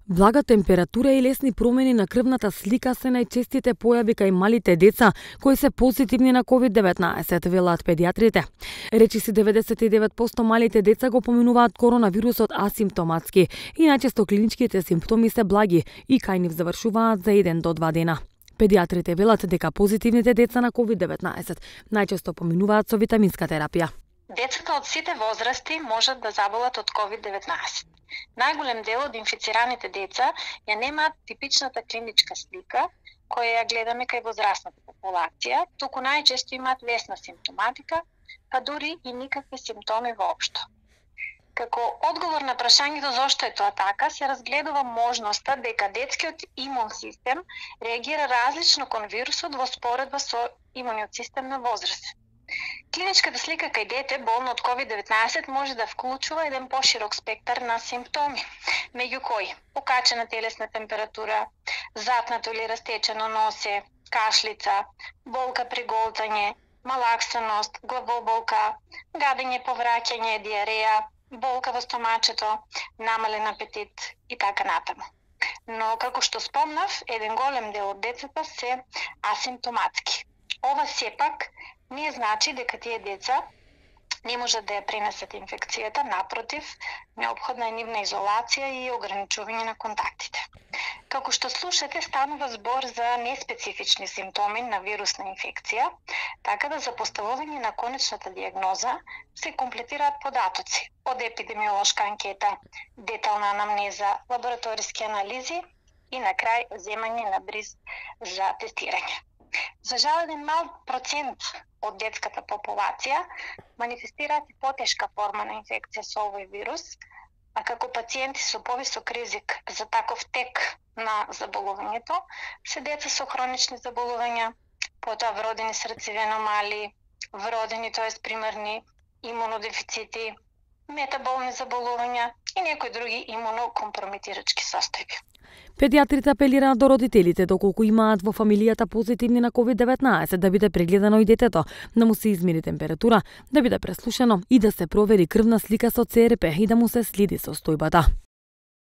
Влага температура и лесни промени на крвната слика се најчестите појави кај малите деца кои се позитивни на COVID-19, велат педиатрите. Речиси 99% малите деца го поминуваат коронавирусот асимптоматски и најчесто клиничките симптоми се благи и кај нив завршуваат за 1 до 2 дена. Педиатрите велат дека позитивните деца на COVID-19 најчесто поминуваат со витаминска терапија. Децата од сите возрасти можат да заболат од COVID-19. Најголем дел од инфицираните деца ја немаат типичната клиничка слика која ја гледаме кај возрастната популација, туку најчесто имаат лесна симптоматика, па дури и никакви симптоми воопшто. Како одговор на прашањето зошто е тоа така, се разгледува можноста дека детскиот имун систем реагира различно кон вирусот во споредба со имуниот систем на возраст. Клиничката слика кај дете болно од COVID-19 може да вклучува еден поширок спектар на симптоми, меѓу кои покачена телесна температура, затнато или растечено носе, кашлица, болка при голтање, малаксаност, главоболка, гадење, повраќање, диареја, болка во стомачето, намален апетит и така натаму. Но како што спомнав, еден голем дел од децата се асимптоматски. Ова сепак не значи дека тие деца не можат да ја пренесат инфекцијата, напротив, неопходна е нивна изолација и ограничување на контактите. Како што слушате, станува збор за неспецифични симптоми на вирусна инфекција, така да за поставување на конечната дијагноза се комплетираат податоци од епидемиолошка анкета, детална анамнеза, лабораториски анализи и на крај земање на бриз за тестирање. За жал, еден мал процент од детската популација манифестираат и потешка форма на инфекција со овој вирус, а како пациенти со повисок ризик за таков тек на заболувањето се деца со хронични заболувања, потоа вродени срцеви аномалии, вродени, тоест примерни имунодефицити, метаболни заболувања и некои други имунокомпромитирачки состојби. Педиатрите апелираат до родителите доколку имаат во фамилијата позитивни на COVID-19 да биде прегледано и детето, да му се измери температура, да биде преслушано и да се провери крвна слика со ЦРП и да му се следи состојбата.